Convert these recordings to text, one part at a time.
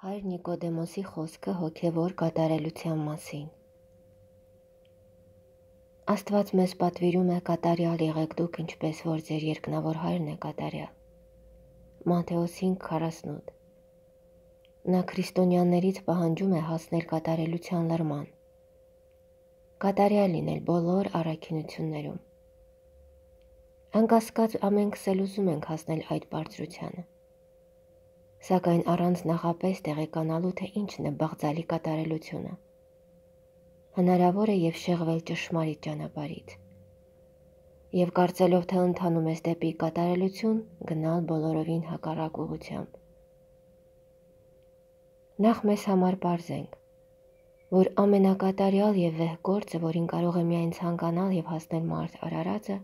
Հայր Նիկոդեմոսի խոսքը հոգևոր կատարելության մասին։ Աստված մեզ պատվիրում է կատարյալ եղեք դուք, ինչպես որ ձեր երկնավոր Հայրն է կատարյալ։ Մատթեոս 5:48։ Նա քրիստոնյաներից պահանջում է հասնել կատարելության լրման, կատարյալ լինել բոլոր առաքինություններում։ Անկասկած ամենքս էլ ուզում ենք հասնել այդ բարձրությանը, սակայն առանց նախապես տեղեկանալու, թե ինչն է բաղձալի կատարելությունը, հնարավոր է և շեղվել ճշմարիտ ճանապարհից, և կարծելով, թե ընթանում ես դեպի կատարելություն, գնալ բոլորովին հակառակ ուղղությամբ։ Նախ մեզ համար պարզենք, որ ամենակատարյալ և վեհ գործը, որին կարող է միայն ցանկանալ և հասնել մարդ արարածը,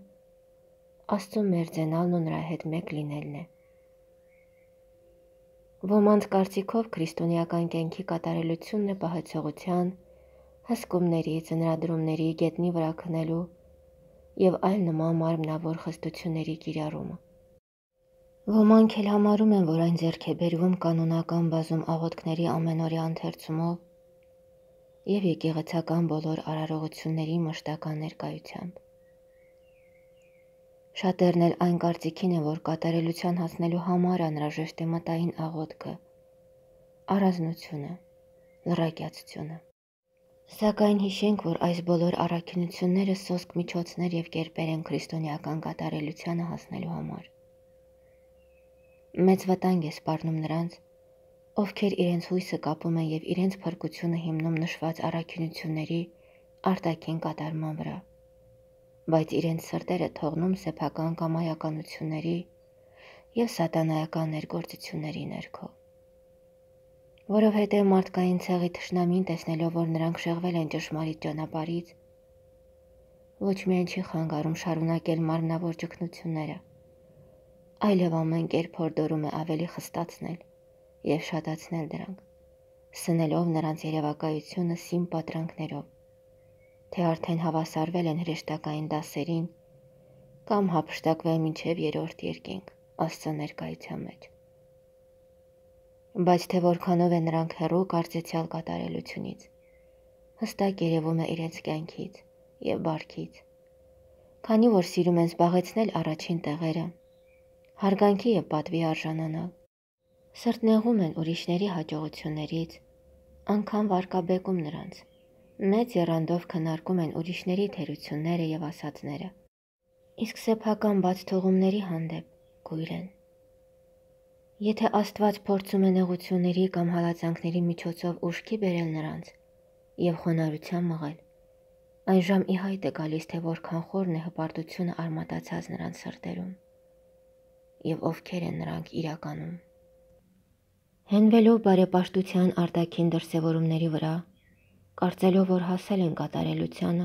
Աստծուն մերձենալն ու նրա հետ մեկ լինելն է։ Ոմանց կարծիքով քրիստոնեական կյանքի կատարելությունն է պահեցողության, հսկումների, ծնրադրումների, գետնի վրա քնելու և այլ նման մարմնավոր խստությունների կիրառումը։ Ոմանք էլ համարում են, որ այն ձեռք է բերվում կանոնական բազում աղոթքների ամենօրյա ընթերցումով և եկեղեցական բոլոր արարողությունների մշտական ներկայությամբ։ Շատերն էլ այն կարծիքին են, որ կատարելության հասնելու համար անհրաժեշտ է մտային աղոթքը, առանձնությունը, լռակյացությունը։ Սակայն հիշենք, որ այս բոլոր առաքինությունները սոսկ միջոցներ և կերպեր են քրիստոնեական կատարելությանը հասնելու համար։ Մեծ վտանգ է սպառնում նրանց, ովքեր իրենց հույսը կապում են և իրենց փրկությունը հիմնում նշված առաքինությունների արտաքին կատարման վրա, բայց իրենց սրտերը թողնում սեփական կամայականությունների և սատանայական ներգործությունների ներքո։ Որովհետև մարդկային ցեղի թշնամին, տեսնելով, որ նրանք շեղվել են ճշմարիտ ճանապարհից, ոչ միայն չի խանգարում շարունակել մարմնավոր ճգնությունները, այլև ամեն կերպ հորդորում է ավելի խստացնել և շատացնել դրանք, սնելով նրանց երևակայությունը սին պատրանքներով, թե արդեն հավասարվել են հրեշտակային դասերին կամ հափշտակվել մինչև երրորդ երկինք Աստծո ներկայության մեջ։ Բայց թե որքանով են նրանք հեռու կարծեցյալ կատարելությունից, հստակ երևում է իրենց կյանքից և բարքից, քանի որ սիրում են զբաղեցնել առաջին տեղերը, հարգանքի և պատվի արժանանալ, սրտնեղում են ուրիշների հաջողություններից, անգամ վարկաբեկում նրանց, մեծ եռանդով քննարկում են ուրիշների թերությունները և ասածները, իսկ սեփական բաց թողումների հանդեպ կույր են։ Եթե Աստված փորձում է նեղությունների կամ հալածանքների միջոցով ուշքի բերել նրանց և խոնարհության մղել, այժմ ի հայտ է գալիս, թե որքան խորն է հպարտությունը արմատացած նրանց սրտերում և ովքեր են նրանք իրականում։ Հենվելով բարեպաշտության արտաքին դրսևորումների վրա, կարծելով, որ հասել են կատարելությանը,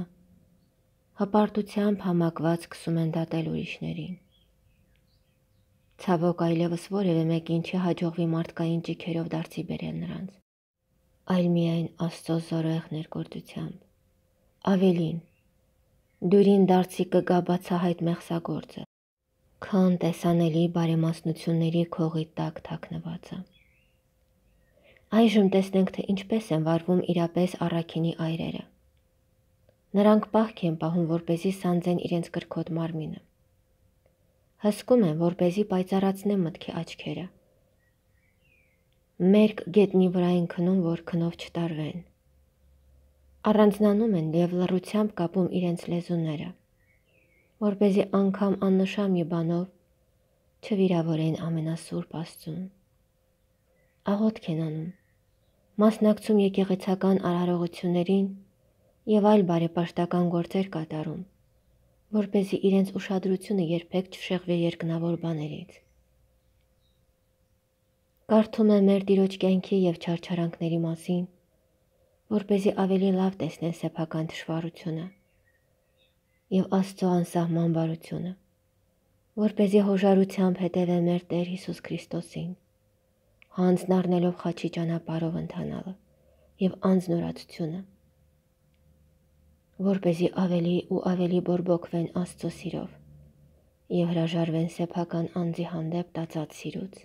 հպարտությամբ համակված սկսում են դատել ուրիշներին։ Ցավոք, այլևս որևէ մեկին չի հաջողվի մարդկային ճիգերով դարձի բերել նրանց, այլ միայն Աստծո զորեղ ներգործությամբ։ Ավելին, դյուրին դարձի կգա բացահայտ մեղսագործը, քան տեսանելի բարեմասնությունների քողի տակ թաքնվածը։ Այժմ տեսնենք, թե ինչպես են վարվում իրապես առաքինի այրերը։ Նրանք պահք են պահում, որպեսզի սանձեն իրենց կրքոտ մարմինը։ Հսկում են, որպեսզի պայծառացնեն մտքի աչքերը։ Մերկ գետնի վրա են քնում, որ քնով չտարվեն։ Առանձնանում են և լռությամբ կապում իրենց լեզուները, որպեսզի անգամ աննշան մի բանով չվիրավորեն ամենասուրբ Աստծուն։ Աղոթք են անում, մասնակցում եկեղեցական արարողություններին և այլ բարեպաշտական գործեր կատարում, որպեսզի իրենց ուշադրությունը երբեք չշեղվի երկնավոր բաներից։ Կարդում են մեր Տիրոջ կյանքի և չարչարանքների մասին, որպեսզի ավելի լավ տեսնեն սեփական թշվառությունը և Աստծո անսահման բարությունը, որպեսզի հոժարությամբ հետևեն մեր Տեր Հիսուս Քրիստոսին, հանձն առնելով խաչի ճանապարհով ընթանալը և անձնուրացությունը, որպեսզի ավելի ու ավելի բորբոքվեն Աստծո սիրով և հրաժարվեն սեփական անձի հանդեպ տածած սիրուց։